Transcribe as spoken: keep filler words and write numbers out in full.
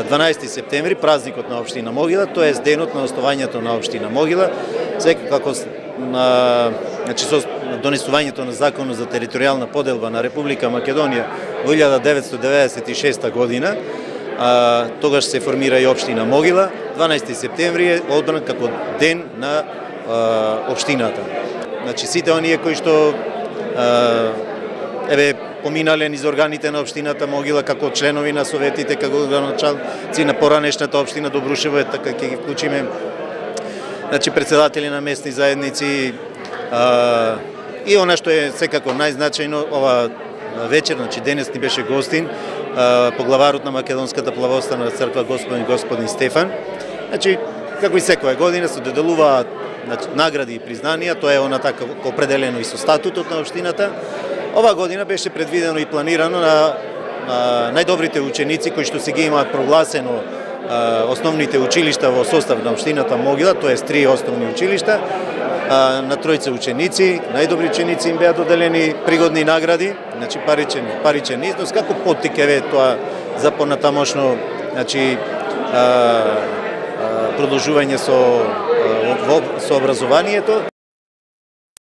дванаесети септември, празникот на општина Могила, тоа е денот на основањето на општина Могила, секако на значи со донесувањето на законот за територијална поделба на Република Македонија во илјада деветстотини деветдесет и шеста година, а, тогаш се формира и општина Могила. дванаесети септември е одбран како ден на а, општината. Значи сите оние кои што а, еве поминале низ органите на општината Могила како членови на советите, како градоначалници на поранешната општина Добрушево, така ќе ги вклучиме, значи председатели на местни заедници, а, и она што е секако најзначајно ова вечер, значи денес ни беше гостин а, поглаварот на Македонската плавоставна црква господин господин Стефан. Значи како и секоја година се доделуваат, значи, награди и признанија, тоа е она така определено и со статутот на општината. Ова година беше предвидено и планирано на, на најдобрите ученици кои што се ги имаат прогласено а, основните училишта во состав на општината Могила, тоа е три основни училишта, а, на тројца ученици, најдобри ученици им беа доделени пригодни награди, значи паричен паричен износ, како поттик еве тоа за понатамошно, значи а, а, продолжување со, а, со образованието.